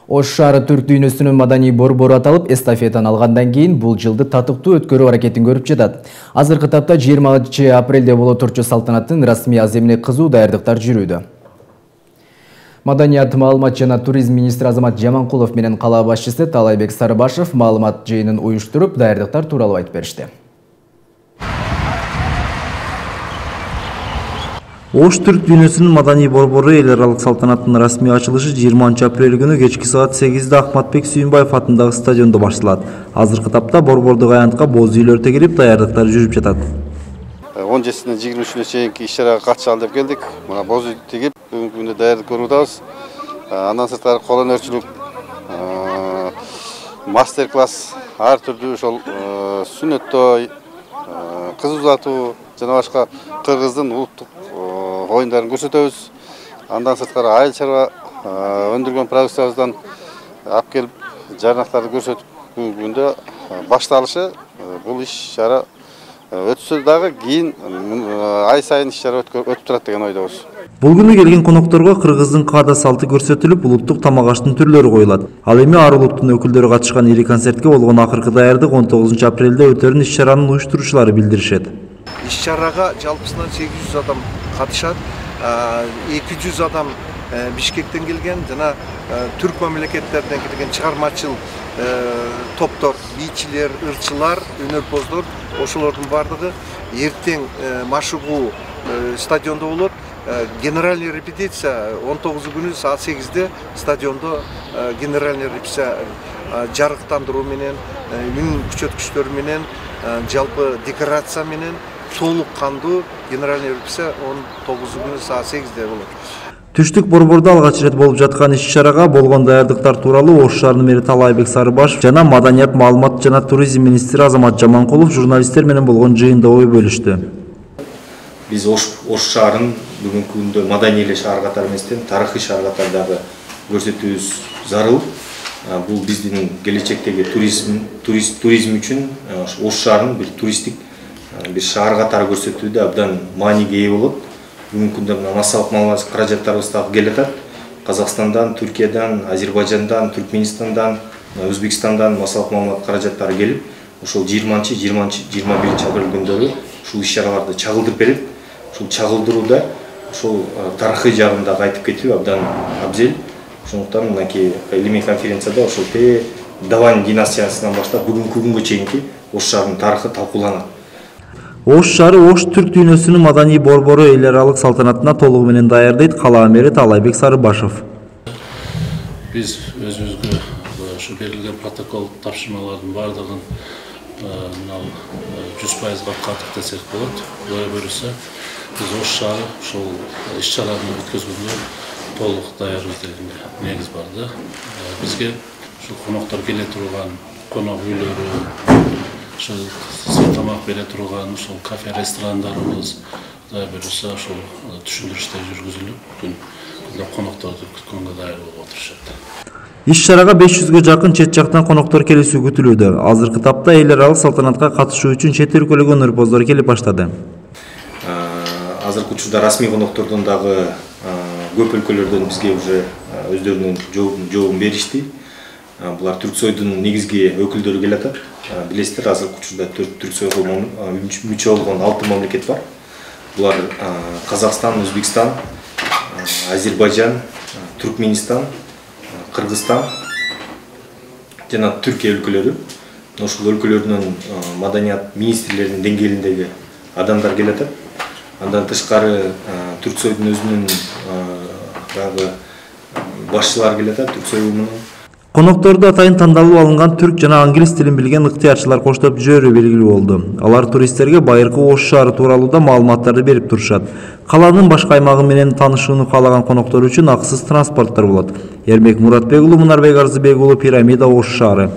Ош шаары түрк дүйнөсүнүн маданий борбору аталып, эстафетаны алгандан кийин бул жылды татыктуу өткөрүү аракетин көрүп жатат. Азыркы тапта 20 апрелде боло турчу салтанаттын расмий аземине кызуу даярдыктар жүрүүдө. Маданият, маалымат жана туризм министри Азамат Жаманкулов менен кала башчысы Талайбек Сарыбашев маалымат жыйынын уюштуруп, даярдыктар тууралуу айтып беришти. Ош түрк дүйнөсүнүн маданий борбору эл аралык салтанаттын расмий ачылышы 20 апрель күнү кечки саат 8-де Ахматбек Сүйүнбаев атындагы стадиондо башталат. Азыркы тапта борбордук аянтка боз үйлөр тегилип, даярдыктар жүрүп жатат. 17-синен 23-үнө чейинки иш-чарага катышалы деп келдик. Мына боз үй тегип, бүгүнкү күндө даярдык көрүп атабыз. Андан сырткары кол өнөрчүлүк, мастер-класс, ар түрдүү ошол сүннөт той, кыз узатуу жана башка кыргыздын улуттук оюндарын көрсөтөбүз. Андан сырткары айыл чарба өндүргөн продукциябыздан алып келип, жарнактарды көрсөтүп, бүгүнкү күндө башталышы бул иш-чара өтсө дагы кийин ай сайын иш-чара өтүп турат деген ойдобуз. Бул күнү келген конокторго кыргыздын каада салты көрсөтүлүп, улуттук тамак аштын түрлөрү коюлат. Ал эми ар улуттун өкүлдөрү катышкан ири концертке болгон акыркы даярдык 19 апрелде өтөрүн иш-чаранын уюштуруучулары билдиришет. Иш-чарага жалпысынан 800 адам катышат. 200 адам Бишкектен келген жана түрк мамлекеттеринен келген чыгармачыл топтор, бийчилер, ырчылар, өнөрпоздор, ошолордун бардыгы эртең машыгуу стадиондо болот. Генеральный репетиция 19 күнү саат 8-де стадиондо генеральный репетиция жарыктандыруу менен, үн күчөткүчтөр менен, жалпы декорация менен толук кандуу генеральный репетиция 19 күнү саат 8-де болот. Түштүк борбордо алгач ирет болуп жаткан иш-чарага болгон даярдыктар тууралуу Ош шаарынын мэри Талайбек Сарыбашев жана маданият, маалымат жана туризм министри Азамат Жаманкулов журналисттер менен болгон жыйында ой бөлүштү. Биз Ош шаарын бүгүнкү күндө маданий эле шаар катары эместен тарыхый шаар катары дагы көрсөтүүбүз зарыл. Бул биздин келечектеги туризм үчүн Ош шаарын бир туристтик бир шаар катары көрсөтүүдө абдан мааниге ээ болот. Бүгүнкү күндө массалык маалымат каражаттарыбыз дагы келе жатат. Казакстандан, Түркиядан, Азербайжандан, Түркменистандан, Өзбекстандан массалык маалымат каражаттары келип, ошол 20-21 апрель күндөрү ушул иш-чараларды чагылдырып берет. Ушул чагылдырууда ошол тарыхый жагын дагы айтып кетүү абдан абзел. Ошондуктан мынакей илимий конференцияда ошол Давань династиясынан баштап бүгүнкү күнгө чейинки Ош шаарынын тарыхы талкууланат. Ош шаары Ош түрк дүйнөсүнүн маданий борбору эл аралык салтанатына толугу менен даярдайт кала мэри Талайбек Сарыбашев. Биз өзүбүзгө ушу берилген протокол тапшырмалардын бардыгын 100% каттык десек болот. Буга буюрса, биз Ош шаары ушул иш-чараны өткөзгөнгө толук даярбыз деген негиз бар да. Бизге ушул коноктор келе турган конок үйлөрү, ошол тамак бере турган ошол кафе ресторандарыбыз да буюрса ошол түшүндүрүштөр жүргүзүлүп, бүгүн конокторду күткөнгө даяр болуп отурушат. Иш-чарага 500гө жакын чет жактан коноктор келүүсү күтүлүүдө. Азыркы тапта эл аралык салтанатка катышуу үчүн чет өлкөлүк өнөрпоздор келип баштады. Азыркы учурда расмий коноктордон дагы көп өлкөлөрдөн бизге уже өздөрүнүн жообун беришти. Булар Түрксойдун негизги өкүлдөрү келе жатат. Билесиздер, азыркы учурда Түрксойго мүчө болгон 6 мамлекет бар. Булар Казакстан, Өзбекстан, Азербайжан, Түркменистан, Кыргызстан жана Түркия өлкөлөрү. Ошол өлкөлөрдүн маданият министрлеринин деңгээлиндеги адамдар келе жатат. Андан тышкары Түрксойдун өзүнүн дагы башчылары келе жатат, Түрксой уюмунун. Конокторду атайын тандалып алынган түрк жана англис тилин билген ыктыярчылар коштоп жүрүү белгилүү болду. Алар туристтерге байыркы Ош шаары тууралуу маалыматтарды берип турушат. Каланын башка аймагы менен таанышууну каалаган коноктор үчүн акысыз транспорттор болот. Эрмек Муратбек уулу, Мунарбек Арзыбек уулу, Пирамида, Ош шаары.